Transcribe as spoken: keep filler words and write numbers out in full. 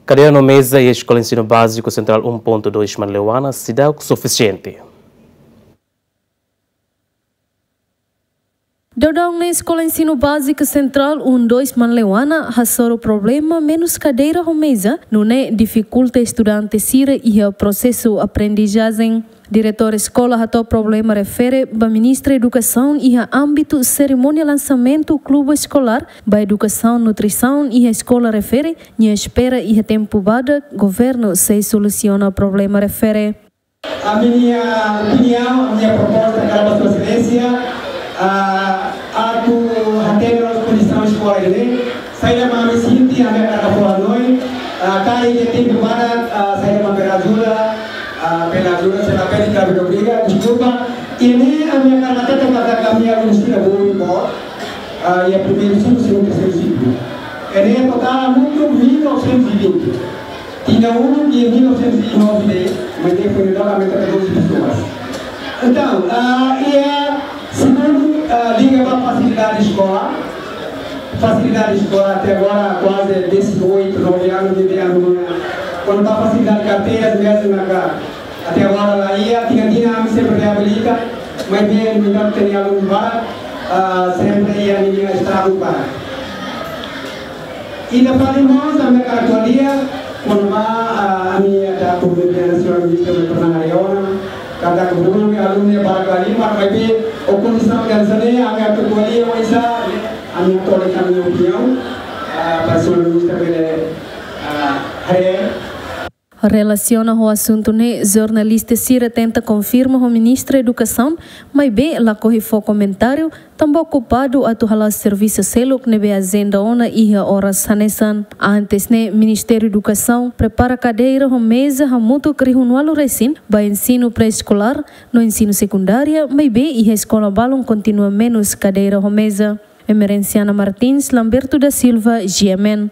Kadeira no meza iha Eskola Ensinu Báziku Sentrál um ponto dois Manleuana seidauk sufisiente. Daudaun ne'e Eskola Ensinu Báziku Sentrál um dois Manleuana hasoru problema menus kadeira ho meza, nune'e difikulta estudante sira iha prosesu aprendizajen. Diretór eskola hato'o problema refere ba Ministra Edukasaun iha ámbitu serimónia lansamentu klubu eskolár ba edukasaun nutrisaun iha eskola refere, nia espera iha tempu badak governu sei solusiona problema refere. Ami-nia opiniaun, ami-nia proposta karik ba Sua Exelénsia, ah, atu hatene loos kondisaun eskola ne'e. Saida mak ami sente, ami hakarak fó hanoin, ah, karik iha tempu badak, ah, saida mak bele ajuda, ah, bele ajuda, se la bele karik obriga, deskulpa. Ne'e ami hakarak hatete katak ami-nia alunu sira boot, ah, iha primeiru siklu, segundu, terseiru siklu. Ne'e totál hamutuk mil novecentos e vinte. Tinan uluk iha mil novecentos e nove, mas ne'e foin daudaun aumenta para doze pessoas. Entaun, ah, iha segundu, ah, liga ba fasilidade eskola. Fasilidade eskola até agora kuaze dezoito, nove anos de ano. Kuandu ba fasilidade karteiras mezmu, até agora la iha, tinan-tinan ami sempre reabilita, maibé, no entantu, temi alunu barak, ah, sempre iha ninia estragu barak. Ida fali mós, ami hakarak ko'alia kona-ba, ah, ami atu ko'alia ho señór ministru, ami pernah haree ona katak alunu, alunu barak liu, maibé ho kondisaun hanesan ne'e, ami atu ko'alia oinsá, ami atu hato'o ami-nia opiniaun, ah, para señór ministru bele, ah, haree. Relasiona ho asuntu ne'e, jornalista sira tenta konfirma ho Ministra Edukasaun, maibé lakohi fó komentáriu, tanba okupadu atu hala'o servisu seluk ne'ebé ajenda ona iha oras hanesan. Antes ne'e, Ministériu Edukasaun prepara kadeira ho meza hamutuk rihun ualu resin ba ensinu pré-eskolár no ensinu sekundária, maibé iha eskola balun kontinua menus kadeira ho meza. Emerenciana Martins, Lamberto da Silva, G M N.